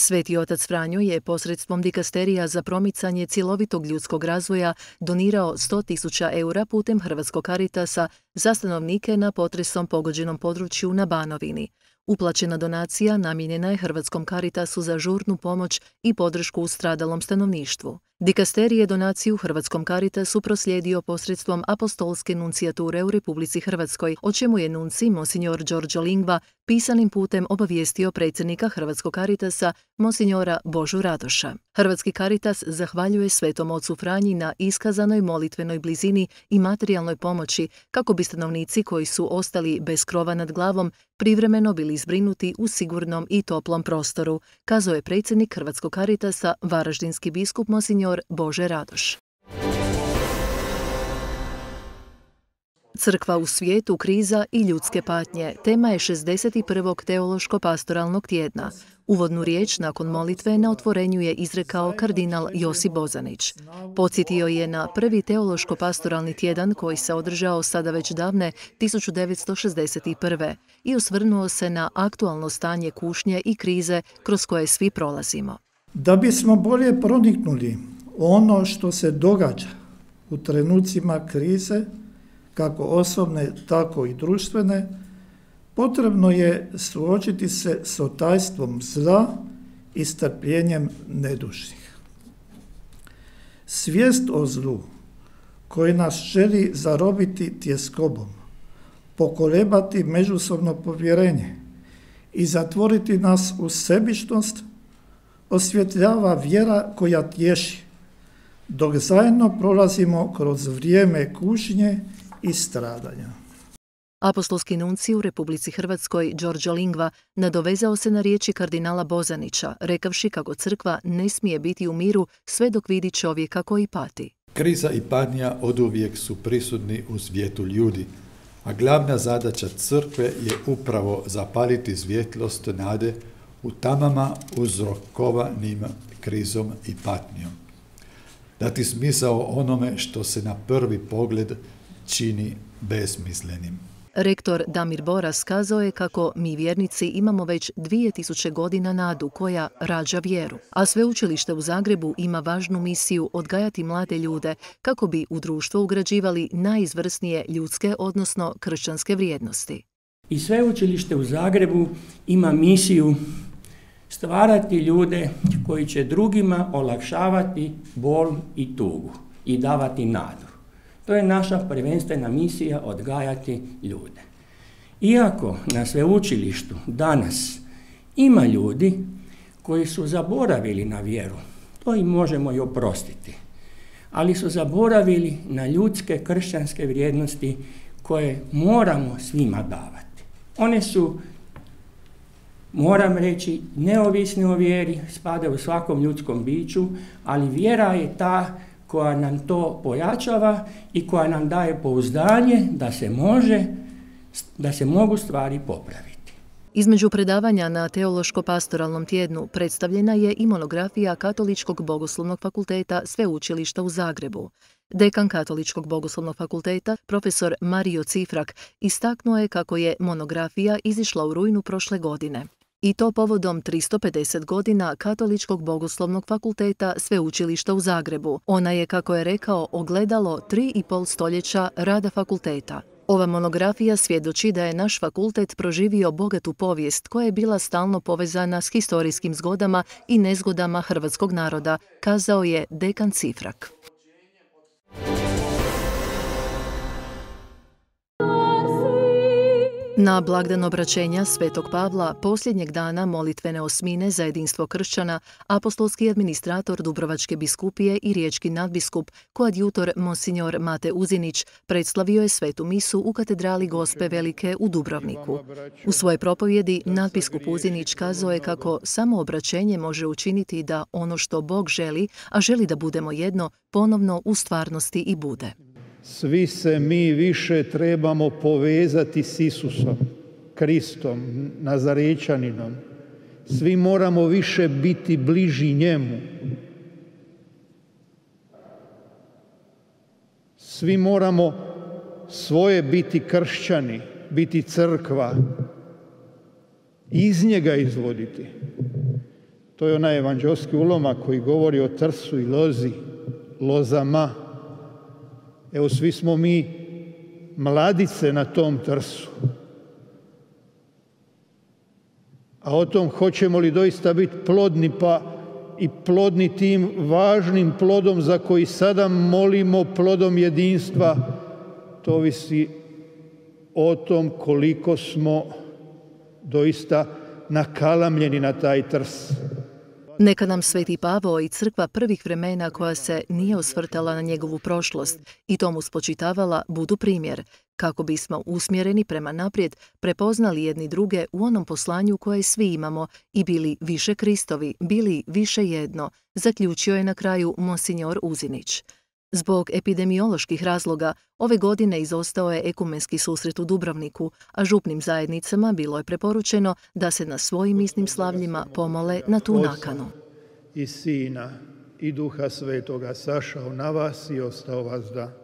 Sveti otac Franjo je posredstvom dikasterija za promicanje cjelovitog ljudskog razvoja donirao 100.000 eura putem Hrvatskog Caritasa za stanovnike na potresom pogođenom području na Banovini. Uplaćena donacija namijenjena je Hrvatskom Caritasu za žurnu pomoć i podršku stradalom stanovništvu. Dikasterij je donaciju Hrvatskom Caritasu proslijedio posredstvom apostolske nuncijature u Republici Hrvatskoj, o čemu je nunci monsignor Đorđo Lingva pisanim putem obavijestio predsjednika Hrvatskog Caritasa monsignora Božu Radoša. Hrvatski Caritas zahvaljuje Svetom ocu Franji na iskazanoj molitvenoj blizini i materijalnoj pomoći kako bi stanovnici koji su ostali bez krova nad glavom privremeno bili zbrinuti u sigurnom i toplom prostoru, kazao je predsjednik Hrvatskog Caritasa, varaždinski biskup monsignor Bože Radoš. Crkva u svijetu, kriza i ljudske patnje tema je 61. teološko-pastoralnog tjedna. Uvodnu riječ nakon molitve na otvorenju je izrekao kardinal Josip Bozanić. Podsjetio je na prvi teološko-pastoralni tjedan koji se održao sada već davne 1961. i osvrnuo se na aktualno stanje kušnje i krize kroz koje svi prolazimo. Da bismo bolje proniknuli ono što se događa u trenucima krize, kako osobne, tako i društvene, potrebno je suočiti se s otajstvom zla i strpljenjem nedužnih. Svijest o zlu koji nas želi zarobiti tjeskobom, pokolebati međusobno povjerenje i zatvoriti nas u sebičnost, osvjetljava vjera koja tješi, dok zajedno prolazimo kroz vrijeme kušnje i stradanja. Apostolski nuncij u Republici Hrvatskoj Đorđo Lingva nadovezao se na riječi kardinala Bozanića, rekavši kako crkva ne smije biti u miru sve dok vidi čovjeka koji pati. Kriza i patnja oduvijek su prisutni u svijetu ljudi, a glavna zadaća crkve je upravo zapaliti svjetlost nade u tamama uzrokovanim krizom i patnjom. Dati smisao onome što se na prvi pogled čini besmislenim. Rektor Damir Boras kazao je kako mi vjernici imamo već 2000 godina nadu koja rađa vjeru, a Sveučilište u Zagrebu ima važnu misiju odgajati mlade ljude kako bi u društvo ugrađivali najizvrsnije ljudske, odnosno kršćanske vrijednosti. I Sveučilište u Zagrebu ima misiju stvarati ljude koji će drugima olakšavati bol i tugu i davati nadu. To je naša prvenstvena misija, odgajati ljude. Iako na sveučilištu danas ima ljudi koji su zaboravili na vjeru, to im možemo i oprostiti, ali su zaboravili na ljudske kršćanske vrijednosti koje moramo svima davati. One su, moram reći, neovisne o vjeri, spadaju u svakom ljudskom biću, ali vjera je ta koja nam to pojačava i koja nam daje pouzdanje da se mogu stvari popraviti. Između predavanja na Teološko-pastoralnom tjednu predstavljena je i monografija Katoličkog bogoslovnog fakulteta Sveučilišta u Zagrebu. Dekan Katoličkog bogoslovnog fakulteta, profesor Mario Cifrak, istaknuo je kako je monografija izišla u rujnu prošle godine. I to povodom 350 godina Katoličkog bogoslovnog fakulteta Sveučilišta u Zagrebu. Ona je, kako je rekao, ogledalo 3,5 stoljeća rada fakulteta. Ova monografija svjedoči da je naš fakultet proživio bogatu povijest koja je bila stalno povezana s historijskim zgodama i nezgodama hrvatskog naroda, kazao je dekan Cifrak. Na blagdan obraćenja Svetog Pavla, posljednjeg dana molitvene osmine za jedinstvo kršćana, apostolski administrator Dubrovačke biskupije i riječki nadbiskup, koadjutor monsignor Mate Uzinić, predslavio je svetu misu u katedrali Gospe Velike u Dubrovniku. U svojoj propovjedi nadbiskup Uzinić kazao je kako samo obraćenje može učiniti da ono što Bog želi, a želi da budemo jedno, ponovno u stvarnosti i bude. Svi se mi više trebamo povezati s Isusom, Kristom, Nazarečaninom. Svi moramo više biti bliži njemu. Svi moramo svoje biti kršćani, biti crkva, iz njega izvoditi. To je onaj evanđelski ulomak koji govori o trsu i lozi, lozama. Evo, svi smo mi mladice na tom trsu. A o tom hoćemo li doista biti plodni, pa i plodni tim važnim plodom za koji sada molimo, plodom jedinstva, to ovisi o tom koliko smo doista nakalamljeni na taj trs. Neka nam Sveti Pavao i crkva prvih vremena koja se nije osvrtala na njegovu prošlost i tomu spočitavala budu primjer, kako bismo usmjereni prema naprijed prepoznali jedni druge u onom poslanju koje svi imamo i bili više Kristovi, bili više jedno, zaključio je na kraju monsignor Uzinić. Zbog epidemioloških razloga ove godine izostao je ekumenski susret u Dubrovniku, a župnim zajednicama bilo je preporučeno da se na svojim misnim slavljima pomole na tu nakanu. I Sina i Duha Svetoga sašao na vas i ostao vas da